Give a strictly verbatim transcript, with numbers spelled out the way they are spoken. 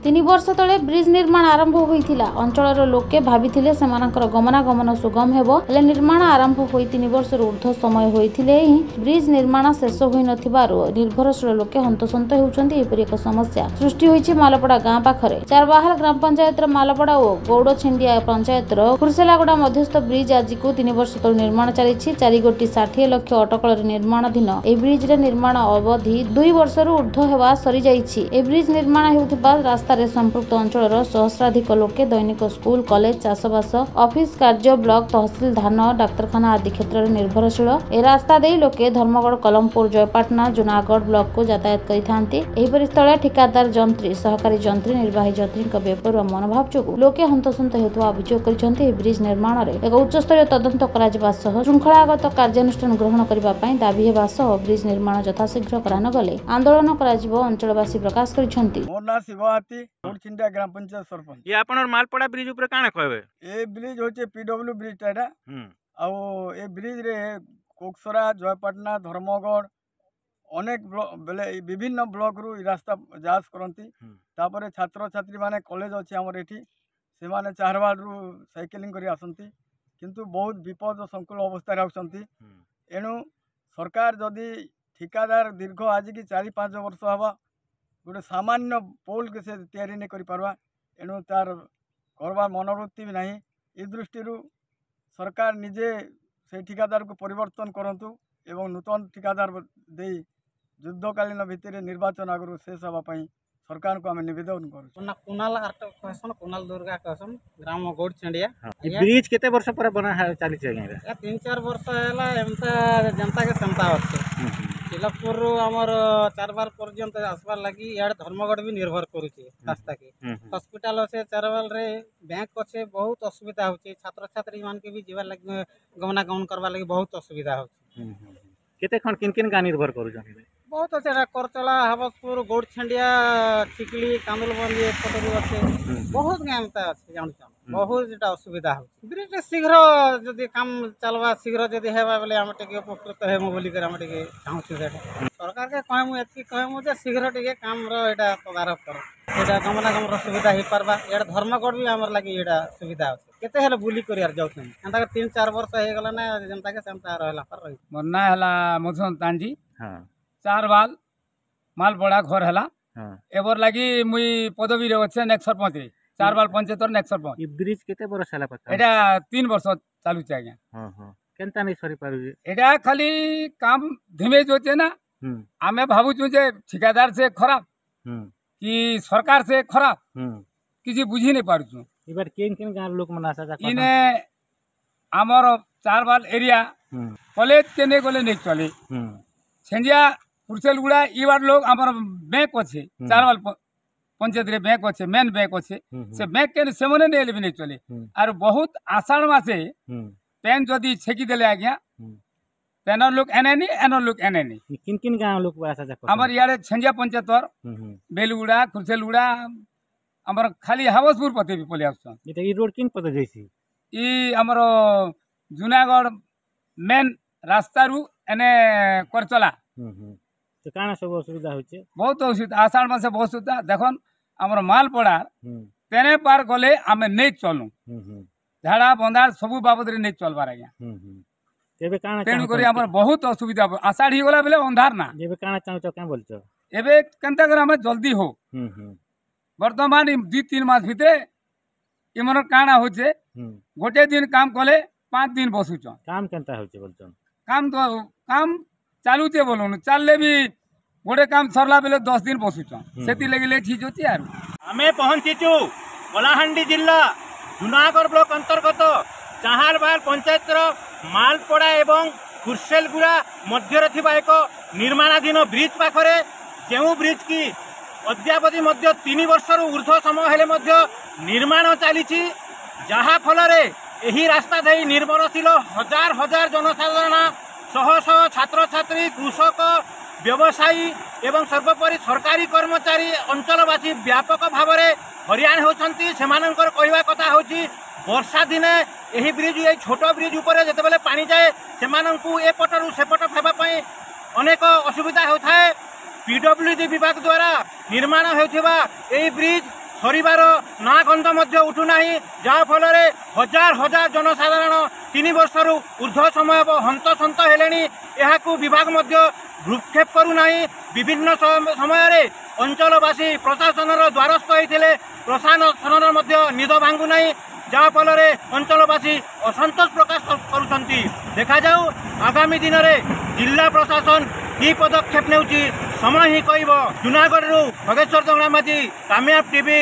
ତିନି ବର୍ଷ ତଳେ ବ୍ରିଜ୍ ନିର୍ମାଣ ଆରମ୍ଭ ହୋଇଥିଲା। ଅଞ୍ଚଳର ଲୋକେ ଭାବିଥିଲେ ସେମାନଙ୍କର ଗମନାଗମନ ସୁଗମ ହେବ। ହେଲେ ନିର୍ମାଣ ଆରମ୍ଭ ହୋଇ ତିନି ବର୍ଷରୁ ଉର୍ଦ୍ଧ୍ୱ ସମୟ ହୋଇଥିଲେ ହିଁ ବ୍ରିଜ୍ ନିର୍ମାଣ ଶେଷ ହୋଇନଥିବାରୁ ନିର୍ଭରଶୀଳ ଲୋକେ ହନ୍ତସନ୍ତ ହେଉଛନ୍ତି। ଏପରି ଏକ ସମସ୍ୟା ସୃଷ୍ଟି ହୋଇଛି ମାଲପଡ଼ା ଗାଁ ପାଖରେ। ଚାରବାହାଲ ଗ୍ରାମ ପଞ୍ଚାୟତର ମାଲପଡ଼ା ଓ ଗୌଡ଼ଛିଣ୍ଡିଆ ପଞ୍ଚାୟତର ଖୁର୍ସେଲାଗୁଡ଼ା ମଧ୍ୟସ୍ଥ ବ୍ରିଜ୍ ଆଜିକୁ ତିନି ବର୍ଷ ତଳୁ ନିର୍ମାଣ ଚାଲିଛି। ଚାରି କୋଟି ଷାଠିଏ ଲକ୍ଷ ଅଟକଳରେ ନିର୍ମାଣାଧୀନ ଏହି ବ୍ରିଜ୍ର ନିର୍ମାଣ ଅବଧି ଦୁଇ ବର୍ଷରୁ ଉର୍ଦ୍ଧ୍ୱ ହେବା ସରିଯାଇଛି। ଏହି ବ୍ରିଜ୍ ନିର୍ମାଣ ହେଉଥିବା ରାସ୍ତାରେ ସମ୍ପୃକ୍ତ ଅଞ୍ଚଳର ସହସ୍ରାଧିକ ଲୋକେ ଦୈନିକ ସ୍କୁଲ, କଲେଜ, ଚାଷବାସ, ଅଫିସ କାର୍ଯ୍ୟ, ବ୍ଲକ, ତହସିଲ, ଧାନ, ଡାକ୍ତରଖାନା ଆଦି କ୍ଷେତ୍ରରେ ନିର୍ଭରଶୀଳ। ଏହି ରାସ୍ତା ଦେଇ ଲୋକେ ଧର୍ମଗଡ଼, କଲମପୁର, ଜୟପାଟଣା, ଜୁନାଗଡ଼ ବ୍ଲକକୁ ଯାତାୟାତ କରିଥାନ୍ତି। ଏହିପରି ସ୍ଥଳେ ଠିକାଦାର ଯନ୍ତ୍ରୀ, ସହକାରୀ ଯନ୍ତ୍ରୀ, ନିର୍ବାହୀ ଯନ୍ତ୍ରୀଙ୍କ ବେପରୁଆ ମନୋଭାବ ଯୋଗୁଁ ଲୋକେ ହନ୍ତସନ୍ତ ହେଉଥିବା ଅଭିଯୋଗ କରିଛନ୍ତି। ଏହି ବ୍ରିଜ୍ ନିର୍ମାଣରେ ଏକ ଉଚ୍ଚସ୍ତରୀୟ ତଦନ୍ତ କରାଯିବା ସହ ଶୃଙ୍ଖଳାଗତ କାର୍ଯ୍ୟାନୁଷ୍ଠାନ ଗ୍ରହଣ କରିବା ପାଇଁ ଦାବି ହେବା ସହ ବ୍ରିଜ୍ ନିର୍ମାଣ ଯଥାଶୀଘ୍ର କରାନଗଲେ ଆନ୍ଦୋଳନ କରାଯିବ ଅଞ୍ଚଳବାସୀ ପ୍ରକାଶ କରିଛନ୍ତି। ମୋର ନାଁ ଶିବ ହାତୀ, ଗୌଡ଼ଛିଣ୍ଡିଆ ଗ୍ରାମ ପଞ୍ଚାୟତ ସରପଞ୍ଚ। ଇଏ ଆପଣର ମାଲପଡ଼ା ବ୍ରିଜ ଉପରେ କାଣା କହିବେ? ଏ ବ୍ରିଜ ହଉଛି ପିଡବ୍ଲ୍ୟୁ ବ୍ରିଜଟା ଏଇଟା। ଆଉ ଏ ବ୍ରିଜରେ କୋକସରା, ଜୟପାଟଣା, ଧର୍ମଗଡ଼ ଅନେକ ବେଲେ ବିଭିନ୍ନ ବ୍ଲକରୁ ଏ ରାସ୍ତା ଯାଆସ କରନ୍ତି। ତାପରେ ଛାତ୍ରଛାତ୍ରୀ ମାନେ କଲେଜ ଅଛି ଆମର ଏଠି, ସେମାନେ ଚାରବାଲରୁ ସାଇକେଲିଂ କରି ଆସନ୍ତି, କିନ୍ତୁ ବହୁତ ବିପଦ ସଂକୁଳ ଅବସ୍ଥାରେ ଆସୁଛନ୍ତି। ଏଣୁ ସରକାର ଯଦି ଠିକାଦାର ଦୀର୍ଘ ଆଜିକି ଚାରି ପାଞ୍ଚ ବର୍ଷ ହେବ ଗୋଟେ ସାମାନ୍ୟ ପୋଲ୍କେ ସେ ତିଆରି ନାଇଁ କରିପାରବା, ଏଣୁ ତାର କରବା ମନୋବୃତ୍ତି ବି ନାହିଁ। ଏ ଦୃଷ୍ଟିରୁ ସରକାର ନିଜେ ସେଇ ଠିକାଦାରକୁ ପରିବର୍ତ୍ତନ କରନ୍ତୁ ଏବଂ ନୂତନ ଠିକାଦାର ଦେଇ ଯୁଦ୍ଧକାଳୀନ ଭିତ୍ତିରେ ନିର୍ବାଚନ ଆଗରୁ ଶେଷ ହେବା ପାଇଁ ସରକାରଙ୍କୁ ଆମେ ନିବେଦନ କରୁଛୁ। ନା କୁନାଲ ଆର୍ଟ କହେସନ୍, କୁନାଲ ଦୁର୍ଗା କହେସନ୍, ଗ୍ରାମ ଗୌଡ଼ଛିଣ୍ଡିଆ। ବ୍ରିଜ କେତେ ବର୍ଷ ପରେ ବନା ଚାଲିଛି ଆଜ୍ଞା? ଏଇଟା ତିନି ଚାରି ବର୍ଷ ହେଲା, ଏନ୍ତା ଯେନ୍ତାକେ ସେନ୍ତା ଅଛି। ଚିଲକପୁରରୁ ଆମର ଚାରବାର ପର୍ଯ୍ୟନ୍ତ ଆସବାର ଲାଗି ଇଆଡ଼େ ଧର୍ମଗଡ଼ ବି ନିର୍ଭର କରୁଛି ରାସ୍ତାକେ। ହସ୍ପିଟାଲ ଅଛେ ଚାରବାଲରେ, ବ୍ୟାଙ୍କ ଅଛେ, ବହୁତ ଅସୁବିଧା ହଉଛି। ଛାତ୍ରଛାତ୍ରୀ ମାନକେ ବି ଯିବାର ଲାଗି, ଗମନାଗମନ କରବାର ଲାଗି ବହୁତ ଅସୁବିଧା ହଉଛି। କେତେ ଖଣ୍ଡ କିନ୍ କିନ୍ ଗାଁ ନିର୍ଭର କରୁଛନ୍ତି? ବହୁତ ଅଛି, ଏଟା କରଚଳା, ହାବସପୁର, ଗୌଡ଼ଛେଣ୍ଡିଆ, ଚିକିଲି, କାନ୍ଦୁଲବନ୍ଦି ଏପଟରୁ ଅଛି, ବହୁତ ଗାଁ ଏନ୍ତା ଅଛି ଜାଣୁଛନ୍। ବହୁତ ଏଟା ଅସୁବିଧା ହଉଛି। ବ୍ରିଜ୍ ଶୀଘ୍ର ଯଦି କାମ ଚାଲବା, ଶୀଘ୍ର ଯଦି ହେବା ବେଲେ ଆମେ ଟିକେ ଉପକୃତ ହେମୁ ବୋଲିକରି ଆମେ ଟିକେ ଚାହୁଁଛୁ। ସେଟା ସରକାରକେ କହେମୁ, ଏତ୍କି କହେମୁ ଯେ ଶୀଘ୍ର ଟିକେ କାମର ଏଇଟା ତଦାରଖ କର, ଏଇଟା ଗମନାଗମନର ସୁବିଧା ହେଇପାରବା। ଇଆଡ଼େ ଧର୍ମଗଡ଼ ବି ଆମର ଲାଗି ଏଇଟା ସୁବିଧା ଅଛି। କେତେ ହେଲେ ବୁଲି କରି ଆର୍ ଯାଉଛନ୍ତି, ଏନ୍ତା ତିନି ଚାରି ବର୍ଷ ହେଇଗଲା ନା ଯେନ୍ତାକେ ସେନ୍ତା ରହିଲା ରହି। ମୋର ନାଁ ହେଲା ମଧୁସୂଦନ ତାଞ୍ଜି, ଚାରବାଲ ମାଲପଡ଼ା ଘର ହେଲା। ଏବର ଲାଗି ମୁଇଁ ପଦବୀରେ ଅଛେ ନେକ୍ସଟ ସରପଞ୍ଚରେ, ଚାରବାଲ ପଞ୍ଚାୟତର ନେକ୍ସଟ ସରପଞ୍ଚ। ଏ ବ୍ରିଜ କେତେ ବର୍ଷ ହେଲା ପାଖା? ଏଇଟା ତିନି ବର୍ଷ ଚାଲୁଛି ଆଜ୍ଞା। ହଁ ହଁ, କେନ୍ତା ନାଇଁ ସରି ପାରୁଛି? ଏଇଟା ଖାଲି କାମ ଧୀମେ ଯାଉଛେ ନା। ଆମେ ଭାବୁଛୁ ଯେ ଠିକାଦାର ସେ ଖରାପ କି ସରକାର ସେ ଖରାପ, କିଛି ବୁଝି ନାଇଁ ପାରୁଛୁ। ଏବାର କେନ୍ କେନ୍ ଗାଁ ଲୋକ ମାନେ ଆସା ଯା? ଇନେ ଆମର ଚାରବାଲ ଏରିଆ କଲେଜ କେନେ ଗଲେ ନେଇ ଚଲେ, ଛେଞ୍ଜିଆ, କୁର୍ସେଲଗୁଡ଼ା ଇବାର ଲୋକ। ଆମର ବ୍ୟାଙ୍କ ଅଛି ଚାରବାଲ ପଞ୍ଚାୟତରେ, ବ୍ୟାଙ୍କ ଅଛି, ମେନ୍ ବ୍ୟାଙ୍କ ଅଛି, ସେ ବ୍ୟାଙ୍କ କେନେ ସେମାନେ ନେଲେ ବି ନେଇ ଚଲେ। ଆରୁ ବହୁତ ଆଷାଢ଼ ମାସେ ପେନ୍ ଯଦି ଛେକି ଦେଲେ ଆଜ୍ଞା, ତେନର ଲୋକ ଏନେନି, ଏନର ଲୋକ ଏନେନି। କିନ୍ କିନ୍ ଗାଁ ଲୋକ ଆସା ଯା? ଆମର ଇଆଡ଼େ ଛେଞ୍ଜିଆ ପଞ୍ଚାୟତର ବେଲଗୁଡ଼ା, ଖୁର୍ସେଲଗୁଡ଼ା, ଆମର ଖାଲି ହାବସପୁର ପତେ ବି ପଳେଇ ଆସୁଛନ୍। ଏଇଟା ଇ ରୋଡ କିନ୍ ପତେ ଯାଇଛି? ଇ ଆମର ଜୁନାଗଡ଼ ମେନ୍ ରାସ୍ତାରୁ ଏନେ କରଚଲା। ତ କାଣା ସବୁ ଅସୁବିଧା ହଉଛି? ବହୁତ ଅସୁବିଧା, ଆଷାଢ଼ ମାସେ ବହୁତ ଅସୁବିଧା। ଦେଖନ୍, ଆମର ମାଲପଡ଼ା ତେନେ ପାର ଗଲେ ଆମେ ନେଇ ଚଲୁ, ଝାଡ଼ା ବନ୍ଧା ସବୁ ବାବଦରେ ନେଇ ଚଲବାର ଆଜ୍ଞା। ଏବେ କାଣା? ତେଣୁକରି ଆମର ବହୁତ ଅସୁବିଧା, ଆଷାଢ଼ ହେଇଗଲା ବେଲେ ଅନ୍ଧାର ନା। ଏବେ କାଣା ଚାହୁଁଛ, କାଁ ବୋଲଛ? ଏବେ କେନ୍ତା କରି ଆମେ ଜଲ୍ଦି ହଉ। ବର୍ତ୍ତମାନ ଦୁଇ ତିନି ମାସ ଭିତରେ ଏମାନର କାଣା ହଉଛେ, ଗୋଟେ ଦିନ କାମ କଲେ ପାଞ୍ଚ ଦିନ ବସୁଛନ୍। କାମ କେନ୍ତା ହଉଛି ବୋଲଛନ୍? କାମ ତ କାମ ଚାଲୁଛେ ବୋଲୁନ, ଚାଲଲେ ବି ଗୋଟେ କାମ ସରିଲା ବେଲେ ଦଶ ଦିନ ବସୁଛନ୍, ସେଥିଲାଗି ଲେଟ୍ ହେଇଯାଉଛି। ଆରୁ ଆମେ ପହଞ୍ଚିଛୁ କଳାହାଣ୍ଡି ଜିଲ୍ଲା ଜୁନାଗଡ଼ ବ୍ଲକ ଅନ୍ତର୍ଗତ ଚାହାରବାଲ ପଞ୍ଚାୟତର ମାଲପଡ଼ା ଏବଂ ଖୁର୍ସେଲଗୁଡ଼ା ମଧ୍ୟରେ ଥିବା ଏକ ନିର୍ମାଣାଧୀନ ବ୍ରିଜ ପାଖରେ, ଯେଉଁ ବ୍ରିଜ କି ଅଦ୍ୟାବଧି ମଧ୍ୟ ତିନି ବର୍ଷରୁ ଉର୍ଦ୍ଧ୍ୱ ସମୟ ହେଲେ ମଧ୍ୟ ନିର୍ମାଣ ଚାଲିଛି, ଯାହାଫଳରେ ଏହି ରାସ୍ତା ଦେଇ ନିର୍ଭରଶୀଳ ହଜାର ହଜାର ଜନସାଧାରଣ, ଶହ ଶହ ଛାତ୍ରଛାତ୍ରୀ, କୃଷକ, ବ୍ୟବସାୟୀ ଏବଂ ସର୍ବୋପରି ସରକାରୀ କର୍ମଚାରୀ, ଅଞ୍ଚଳବାସୀ ବ୍ୟାପକ ଭାବରେ ହଇରାଣ ହେଉଛନ୍ତି। ସେମାନଙ୍କର କହିବା କଥା ହେଉଛି, ବର୍ଷା ଦିନେ ଏହି ବ୍ରିଜ, ଏଇ ଛୋଟ ବ୍ରିଜ ଉପରେ ଯେତେବେଳେ ପାଣି ଯାଏ, ସେମାନଙ୍କୁ ଏପଟରୁ ସେପଟ ହେବା ପାଇଁ ଅନେକ ଅସୁବିଧା ହେଉଥାଏ। ପିଡବ୍ଲ୍ୟୁଡି ବିଭାଗ ଦ୍ୱାରା ନିର୍ମାଣ ହେଉଥିବା ଏହି ବ୍ରିଜ ସରିବାର ନାଁ ଗନ୍ଧ ମଧ୍ୟ ଉଠୁନାହିଁ, ଯାହାଫଳରେ ହଜାର ହଜାର ଜନସାଧାରଣ ତିନି ବର୍ଷରୁ ଉର୍ଦ୍ଧ୍ୱ ସମୟ ହେବ ହନ୍ତସନ୍ତ ହେଲେଣି। ଏହାକୁ ବିଭାଗ ମଧ୍ୟ ଭ୍ରୂକ୍ଷେପ କରୁନାହିଁ। ବିଭିନ୍ନ ସମୟରେ ଅଞ୍ଚଳବାସୀ ପ୍ରଶାସନର ଦ୍ୱାରସ୍ଥ ହୋଇଥିଲେ, ପ୍ରଶାସନର ମଧ୍ୟ ନିଦ ଭାଙ୍ଗୁନାହିଁ, ଯାହାଫଳରେ ଅଞ୍ଚଳବାସୀ ଅସନ୍ତୋଷ ପ୍ରକାଶ କରୁଛନ୍ତି। ଦେଖାଯାଉ ଆଗାମୀ ଦିନରେ ଜିଲ୍ଲା ପ୍ରଶାସନ କି ପଦକ୍ଷେପ ନେଉଛି, ସମୟ ହିଁ କହିବ। ଜୁନାଗଡ଼ରୁ ଖଗେଶ୍ୱର ଦଙ୍ଗଳାମାଝୀ, କାମିୟାବ ଟିଭି।